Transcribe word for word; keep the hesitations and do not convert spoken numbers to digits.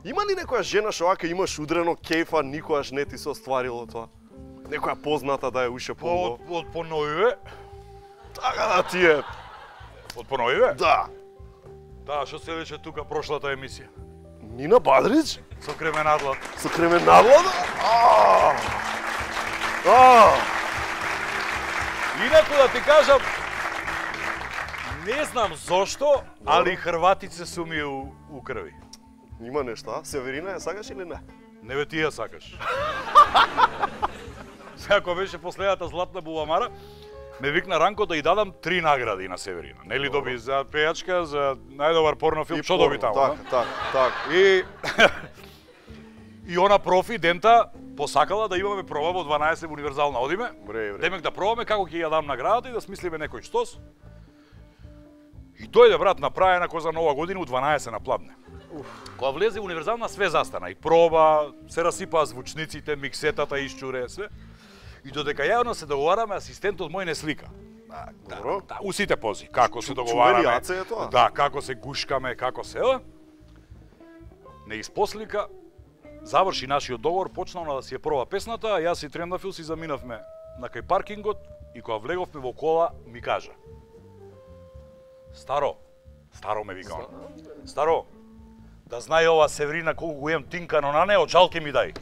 Има ли некоја жена што вака имаш удрено кејфа, никогаш не ти се остварило тоа? Некоја позната да е уше по... Од, од Поноиве? Така да ти е. Од Поноиве? Да. Да, што се рече тука прошлата емисија. Нина Бадрич? Со Кременадлад. Со Кременадлад? Ааа! Ааа! Инаку да ти кажам, не знам зошто, али хрватице су ми у, у крви. Има нешто, а? Северина ја сакаш или не? Не бе ти ја сакаш. Сега кога беше последната златна буламара, ме викна Ранко да ја дадам три награди на Северина. Нели доби за пејачка, за најдобар порнофилм, што доби таму? Така, така, така. И и она профи дента посакала да имаме проба во дванаесет универзална одиме. Бре, бре. Демек да пробаме како ќе ја дам наградата и да смислиме некој штос. И дојде брат направена кој за нова година у дванаесет на Пладне. Кога влезе универзална све застана и проба, се расипаа звучниците, миксетата исчуре све. И додека јавно се договараме, асистентот мој не слика. Добро. Да, у сите пози, како се договараме. Чувелијаце е тоа. Да, како се гушкаме, како се ела. Не испослика, заврши нашиот договор, почнавме да си ја проба песната, а јас и Трендафил си заминавме на кај паркингот и кога влеговме во кола ми кажа: Старо, старо ме вика он. Старо, да знае ова Северина колку го имам тинкано на нео, чалке ми дај.